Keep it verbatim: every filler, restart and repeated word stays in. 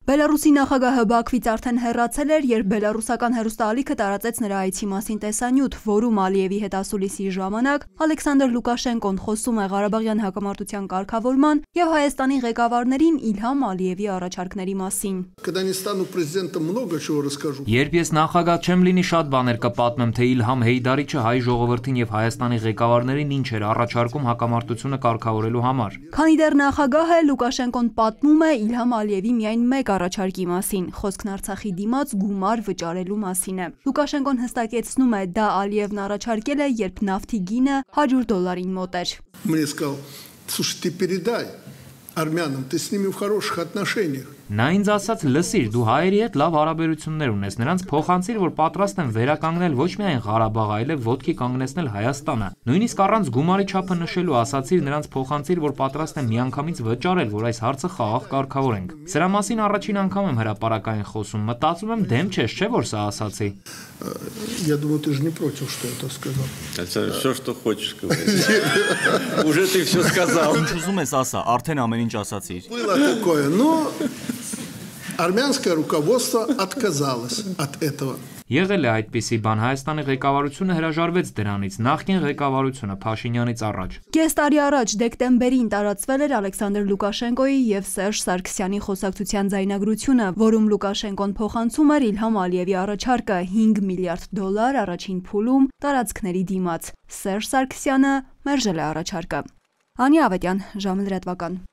Բելարուսի նախագահը Բաքվից արդեն հեռացել էր, երբ բելարուսական հեռուստաալիքը տարածեց նրա այցի մասին տեսանյութ, որում Ալիևի հետ ասուլիսի ժամանակ Ալեքսանդր Լուկաշենկոն խոսում է Ղարաբաղյան հակամարտության կարգավորման և Հայաստանի ղեկավարներին Իլհամ Ալիևի առաջարկների մասին։ Երբ ես նախագահ չեմ լինի, շատ բաներ կպատմեմ, թե Իլհամ Հեյդարիչը հայ ժողովրդին և Հայաստանի ղեկավարներին ինչ էր առաջարկում հակամարտությունը կարգավորելու համար։ Քանի դեռ նախագահ է, Լուկաշենկոն պատմում է Իլհամ Ալիևի միայն մեկ առաջարկի մասին, խոսքն Արցախի դիմաց գումար վճարելու մասին է։ Լուկաշենկոն հստակեցնում է, դա Ալիևն առաջարկել է, երբ նավթի գինը հարյուր դոլարին մոտ էր։ Мне сказал: "Слушай, ты передай армянам, ты с ними в хороших отношениях". Նա ինձ ասաց, լսիր, դու հայերի հետ լավ հարաբերություններ ունես, նրանց փոխանցիր, որ պատրաստ են վերականգնել ոչ միայն Ղարաբաղը, այլև ոտքի կանգնեցնել Հայաստանը։ Նույնիսկ առանց գումարի չափը նշելու ասացիր նրանց փոխանցիր, որ պատրաստ են միանգամից վճարել, որ այս հարցը խաղաղ կարգավորենք։ Սրա մասին առաջին անգամ եմ հրապարակային խոսում, մտածում եմ դեմ չես, չէ՞ որ սա ասացի։ Я думаю, ты же не против, что это сказал. Все, что хочешь говорить. Уже ты все сказал. Ինչ ուզում ես ասա, արդեն ամեն ինչ ասացիր։ Было такое, но армянское руководство отказалось от этого. Եղել է այդպիսի բան, Հայաստանի ղեկավարությունը հրաժարվեց դրանից, նախկին ղեկավարությունը Փաշինյանից առաջ։ Կես տարի առաջ դեկտեմբերին տարածվել էր Ալեքսանդր Լուկաշենկոյի և Սերժ Սարգսյանի խոսակցության ձայնագրությունը, որում Լուկաշենկոն փոխանցում էր Իլհամ Ալիևի առաջարկը հինգ միլիարդ դոլար առաջին փուլում տարածքների դիմաց։ Սերժ Սարգսյանը մերժել է առաջարկը։ Անի Ավետյան, ժամը լրատվական։